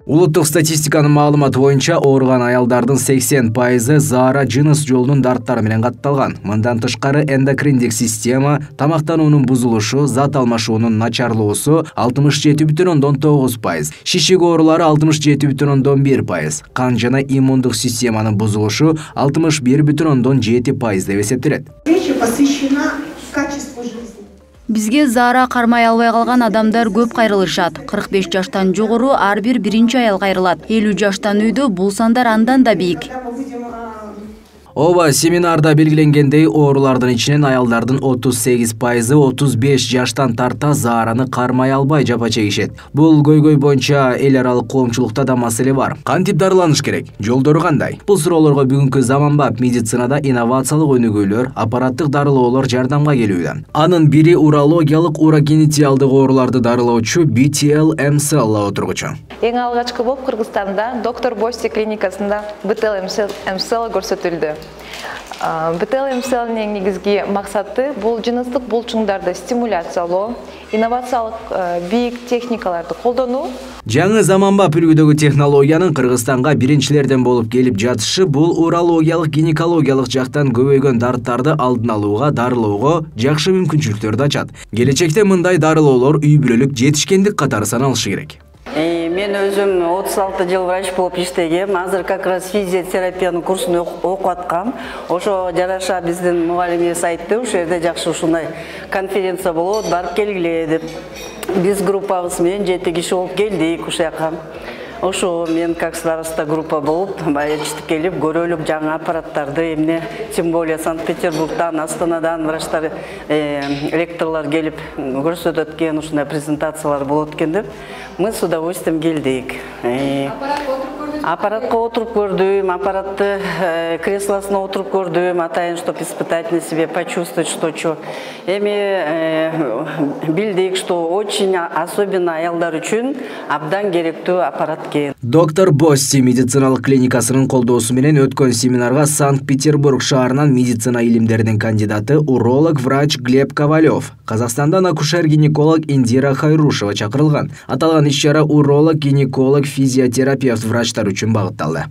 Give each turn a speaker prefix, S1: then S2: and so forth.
S1: Улуттук статистиканын маалыматы боюнча ооруган аялдардын 80% заара жыныс жолунун дарттары менен катталган. Мындан тышкары эндокриндик система, тамактануунун бузулушу, зат алмашуунун начарлоосу 67,9%, шишик оорулары 67,1%, кан жана иммундук системанын бузулушу 61,7% деп эсептелет.
S2: Встреча посвящена качеству жизни.
S3: Бизге заара кармай албай калган адамдар көп кайрылышат. 45 жаштан жогору ар бир биринчи аял кайрылат. 50 жаштан үйдө бул сандар андан да бийик.
S1: Ооба, семинарда белгиленгендей, оорулардын ичинен аялдардын 38% 35 жаштан тарта заараны кармай албай жапа чегишет. Бул көйгөй боюнча эл аралык коомчулукта да маселе бар. Кантип дарыланыш керек? Жолдору кандай? Бул суроолорго бүгүнкү заманбап медицинада инновациялык өнүгүүлөр, аппараттык дарылоолор жардамга келүүдө. Анын бири урологиялык урогенитиалдык ооруларды дарылоочу BTL MCL лабораторгучу.
S4: Эң алгачкы болуп Кыргызстанда доктор Бости клиникасында BTL MCL көрсөтүлдү. BTL MCL'нин негизги максаты бул жыныстык булчуңдарды стимуляциялоо, инновациялык бийик техникаларды колдонуу.
S1: Жаңы заманбап үлгүдөгү технологиянын Кыргызстанга биринчилерден болуп келип жатышы бул урологиялык, гинекологиялык жактан көбөйгөн дарттарды алдын алууга, дарылоого жакшы мүмкүнчүлүктөрдү ачат. Келечекте мындай дарылоолор үй бүлөлүк жетишкендик катары саналышы керек.
S5: Мен өзüm 36 жыл врач болуп иштегем. Азыр как раз физиотерапиянын курсун окуп аткам. Ошо жараша биздин мугалимибиз айтты, ошол жерде жакшы ушундай конференция болот, барып келгиле деп. Биз группабыз менен 7 киши болуп келдик ушул жака. Ошо мен как староста группа болуп, баягы келип көрөлүк жаңы аппараттарды, эмне, тем более Санкт-Петербургдан, Астанадан врачтар, ректорлор келип көрсөтөт экен, ушундай презентациялар болот экен деп. Мы с удовольствием келдик. Аппаратка отуруп көрдүм, аппаратты креслосуна отуруп көрдүм, атайын, чтобы испытать на себе, почувствовать что-чо. Эми билдик, что очень особенно аялдар үчүн абдан керектүү аппарат экен.
S1: Доктор Бости медициналык клиникасынын колдоосу менен өткөн семинарга Санкт-Петербург шаарынан медицина илимдеринин кандидаты уролог врач Глеб Ковалев, Казакстандан акушер-гинеколог Индира Хайрушева чакырылган. Аталган иш-чара уролог, гинеколог, физиотерапевт врачтар үчүн багытталды.